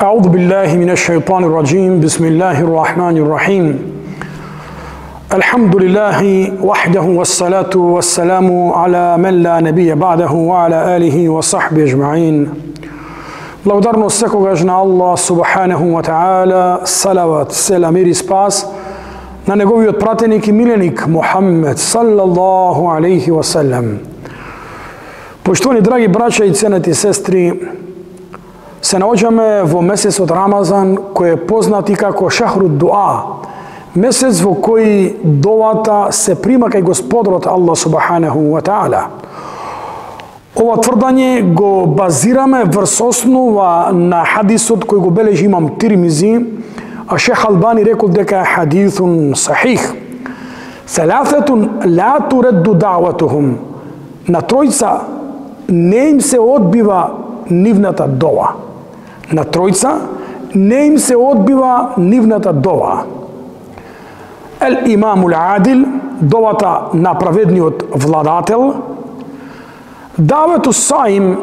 أعوذ بالله من الشيطان الرجيم بسم الله الرحمن الرحيم الحمد لله وحده والصلاة والسلام على من لا نبي بعده وعلى آله وصحبه أجمعين Благодарност секогаш на Аллах субханаху ва таала, салават, селам и спас на неговиот пратеник и миленик Мухаммед саллаллаху алейхи ва салам. Поштовани драги браќа и ценети сестри, се наоѓаме во месецот Рамазан, кој е познат и како шахрут дуа, месец во кој довата се прима кај Господарот Аллах субханаху ва таала. Ова тврдање го базираме врз основа на хадисот кој го бележи имам Тирмизи, а Шех Албани рекол дека е хадисун сахих. Селафетун ла туредду даъватухум. На тројца не им се одбива нивната дова. На тројца не им се одбива нивната дова. Ел имамул адил, довата на праведниот владател, давету саим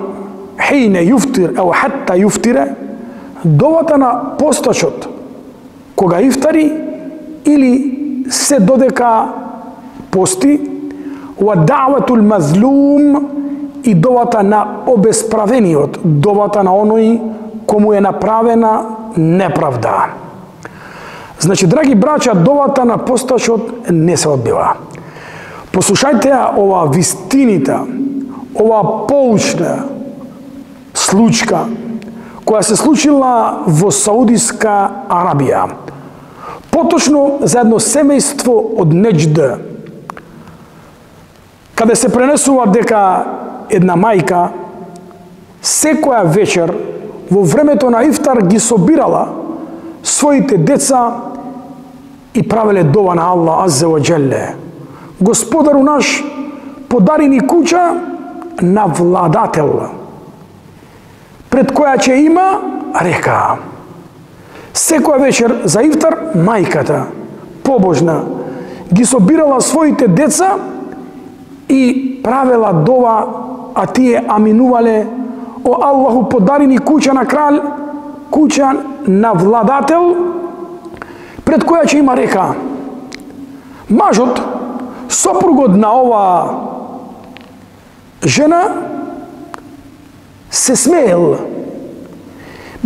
хейне юфтир, ево хатта юфтире, довата на постачот, кога ифтари или се додека пости, ва даветул мазлум, и довата на обесправениот, довата на оној кому е направена неправда. Значи, драги браќа, довата на постачот не се одбива. Послушајте ова вистинита, ова поучна случка која се случила во Саудиска Арабија. Поточно за едно семејство од Неџд, каде се пренесува дека една мајка секоја вечер во времето на ифтар ги собирала своите деца и правеле дова на Аллах аззе ва џелле. Господару наш, подари ни куќа на владател, пред која ќе има река. Секоја вечер за ифтар мајката, побожна, ги собирала своите деца и правела дова, а тие аминувале: о Аллаху, подари ни куќа на крал, куќа на владател, пред која ќе има река. Мажот, сопругот на ова жена, се смеел,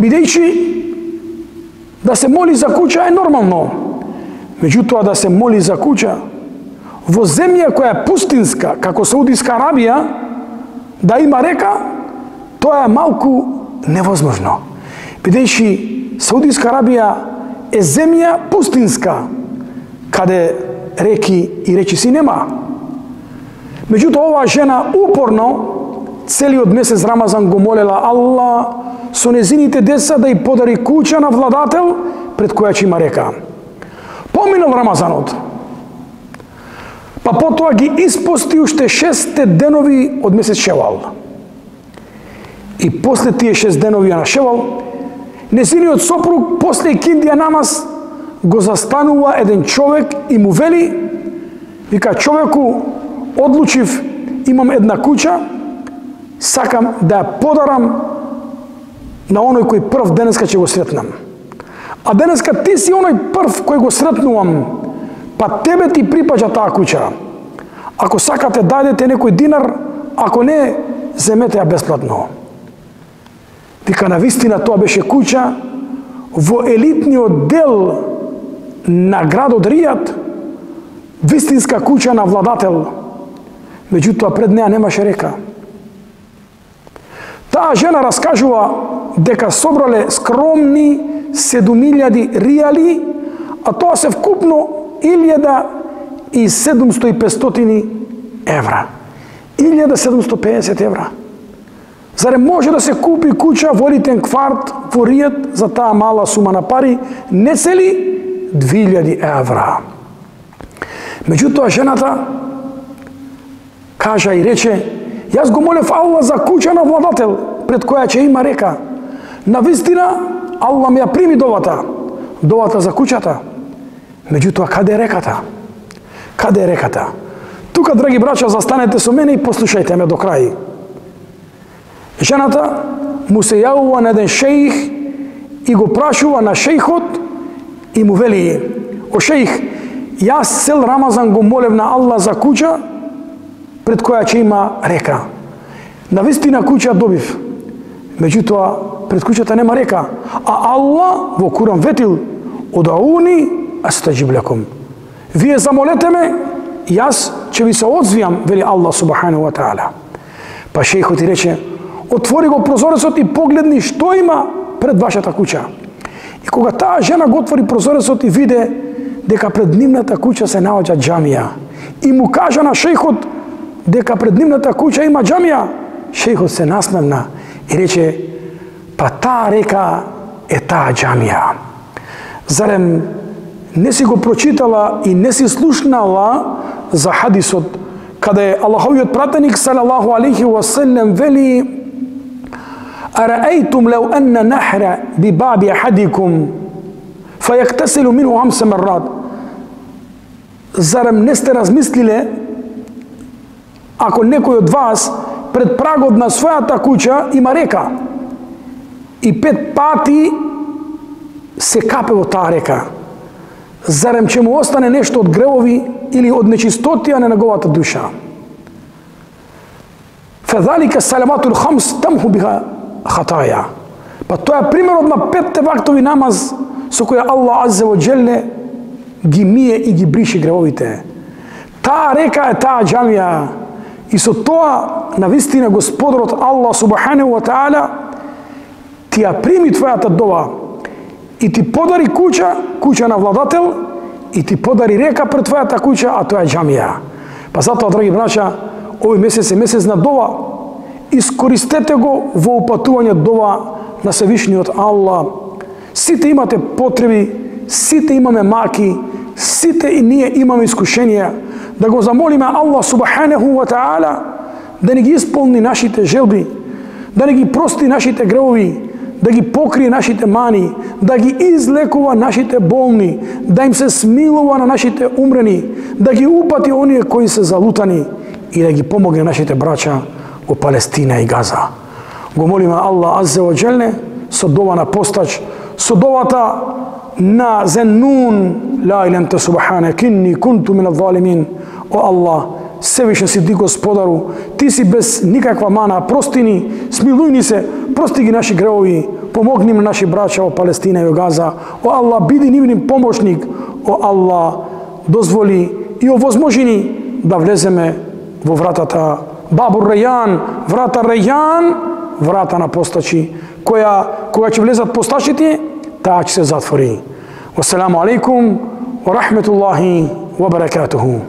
бидејќи да се моли за куќа е нормално. Меѓутоа, да се моли за куќа во земја која е пустинска, како Саудиска Арабија, да има река, тоа е малку невозможно. Бидејќи Саудиска Арабија е земја пустинска, каде реки и речиси нема. Меѓутоа, оваа жена упорно целиот месец Рамазан го молела Аллах со незините деца да и подари куќа на владател пред која ќе има река. Поминал Рамазанот, па потоа ги испости уште 6 денови од месец Шевал. И после тие 6 денови на Шевал, незиниот сопруг после киндија намаз го застанува еден човек и му вели, вика: човеку, одлучив, имам една куќа, сакам да ја подарам на оној кој прв денеска ќе го сретнам. А денеска ти си оној прв кој го сретнувам, па тебе ти припаѓа таа куќа. Ако сакате, дајдете некој динар, ако не, земете ја бесплатно. Вика, навистина тоа беше куќа во елитниот дел на градот Ријад, вистинска куќа на владател. Меѓутоа, пред неа немаше река. Таа жена раскажува дека собрале скромни 7.000 риали, а тоа се вкупно 1.750 евра. 1.750 евра. Заре може да се купи куќа во елитен кварт во Ријад за таа мала сума на пари, не цели 2.000 евра. Меѓутоа, жената кажа и рече: јас го молев Аллах за куќа на владател, пред која ќе има река. Навистина, Аллах ми ја прими довата за куќата. Меѓутоа, каде е реката? Каде е реката? Тука, драги браќа, застанете со мене и послушајте ме до крај. Жената му се јавува на еден шејх и го прашува на шејхот и му вели: о шејх, јас цел Рамазан го молев на Аллах за куќа пред која ќе има река. Навистина куќа добив, меѓутоа пред куќата нема река, а Аллах во Куран ветил: удауни астаџиб лакум. Вие замолете ме, јас ќе ви се одзвијам, вели Аллах субханаху ва таала. Па шејхот и рече: отвори го прозорецот и погледни што има пред вашата куќа. И кога таа жена го отвори прозорецот и виде дека пред нивната куќа се наоѓа џамија, и му кажа на шејхот дека пред нивната куќа има џамија, шејхот се насмевна и рече: па таа река е таа џамија. Зарем не си го прочитала и не си слушнала за хадисот каде Аллаховиот пратеник салаллаху алейхи ва саллем вели: араейтум лау анна нахра би баби ахадикум фајактасилу минху 5 маррат. Зарем не сте размислиле ако некој од вас пред прагот на својата куќа има река и 5 пати се капе во таа река, зарем ќе му остане нешто од гревови или од нечистотија на неговата душа? Фазалика саламатул хамс тамху биха хатаја. Па тоа е примерот на 5 вактови намаз со која Аллах аззе ва џелле ги мие и ги бриши гревовите. Таа река е таа џамија и со тоа навистина Господарот Аллах субханаху ва таала ти ја прими твојата дова и ти подари куќа на владател, и ти подари река пред твојата куќа, а тоа е џамија. Па затоа, драги браќа, овој месец е месец на дова. Искористете го во упатување дова на Севишниот Аллах. Сите имате потреби, сите имаме маки, сите и ние имаме искушенија. Да го замолиме Аллах субханаху ва таала да ни ги исполни нашите желби, да ни ги прости нашите гревови, да ги покрие нашите мани, да ги излекува нашите болни, да им се смилува на нашите умрени, да ги упати оние кои се залутани и да ги помогне нашите браќа во Палестина и Газа. Го молиме Аллах аззе ва џелле со дова на постач, со довата на Зеннун: ла илаха анта субханак инни кунту мин адh-дhalимин. О Аллах, Севишен си ти Господару, ти си без никаква мана, прости ни, смилуј ни се, прости ги наши гревови, помогни на наши браќа во Палестина и Газа. О Аллах, биди нивнин помошник. О Аллах, дозволи и овозможи ни да влеземе во вратата Бабур Рејан, врата Рејан, врата на постачи, кога ќе влезат постачите, таа ќе се затвори. Вассаламу алейкум ва рахметуллахи ва баракатуху.